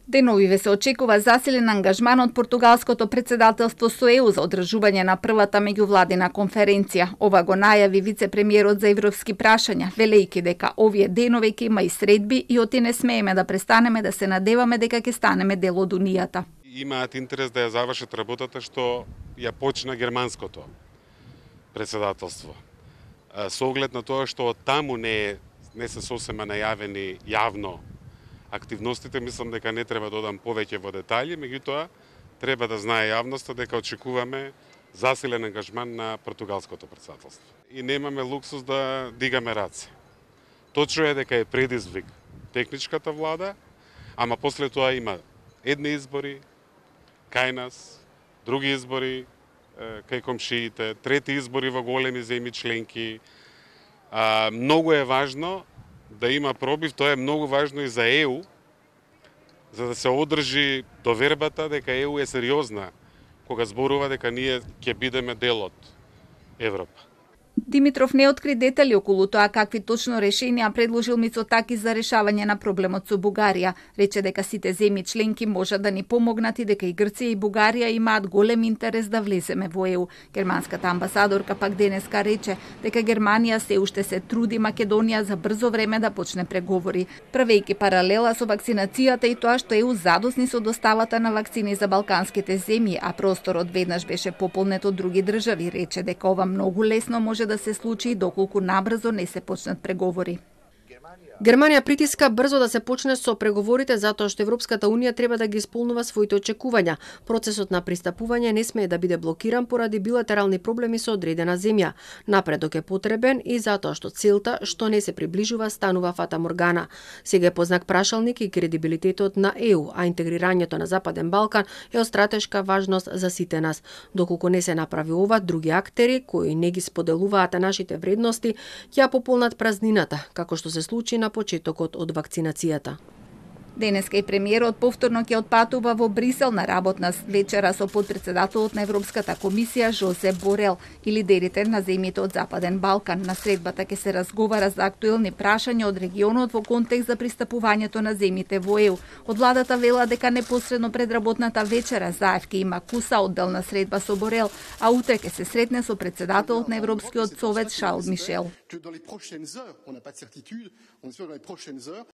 Деновиве се очекува засилен ангажман од португалското претседателство со ЕУ за одржување на првата меѓувладина конференција. Ова го најави вице-премиерот за европски прашања, велејќи дека овие денови ќе има и средби и оти не смееме да престанеме да се надеваме дека ќе станеме дел од Унијата. Имаат интерес да ја завршат работата што ја почна германското претседателство. Со оглед на тоа што од таму не се сосема најавени јавно активностите, мислам дека не треба да одам повеќе во детали, меѓутоа треба да знае јавноста дека очекуваме засилен ангажман на португалското претседателство. И немаме луксус да дигаме раце. Точно е дека е предизвик техничката влада, ама после тоа има едни избори кај нас, други избори кај комшиите, трети избори во големи земји членки. Многу е важно да има пробив, тоа е многу важно и за ЕУ, за да се одржи довербата дека ЕУ е сериозна кога зборува дека ние ќе бидеме дел од Европа. Димитров не откри детали околу тоа какви точно решенија предложил Мицотаки за решавање на проблемот со Бугарија. Рече дека сите земји членки можат да ни помогнат и дека и Грција и Бугарија имаат голем интерес да влеземе во ЕУ. Германската амбасадорка пак денеска рече дека Германија се уште се труди Македонија за брзо време да почне преговори, правејќи паралела со вакцинацијата и тоа што ЕУ задосни со доставата на вакцини за балканските земји, а просторот веднаш беше пополнет од други држави. Рече дека ова многу лесно може да се случи доколку набрзо не се почнат преговори. Германија притиска брзо да се почне со преговорите затоа што Европската унија треба да ги исполнува своите очекувања. Процесот на пристапување не смее да биде блокиран поради билатерални проблеми со одредена земја. Напредок е потребен и затоа што целта што не се приближува станува фата моргана. Сега е познак прашалник и кредибилитетот на ЕУ, а интегрирањето на Западен Балкан е од стратешка важност за сите нас. Доколку не се направи ова, други актери кои не ги споделуваат нашите вредности ќе пополнат празнината, како што се случи на почетокот од вакцинацијата. Денеска и премиерот повторно ќе отпатува во Брисел на работна вечера со подпредседателот на Европската комисија Жозе Борел и лидерите на земјите од Западен Балкан. На средбата ќе се разговара за актуелни прашања од регионот во контекст за пристапувањето на земјите во ЕУ. Од владата вела дека непосредно пред работната вечера Заев ќе има куса одделна средба со Борел, а утре ќе се сретне со председателот на Европскиот совет Шарл Мишел.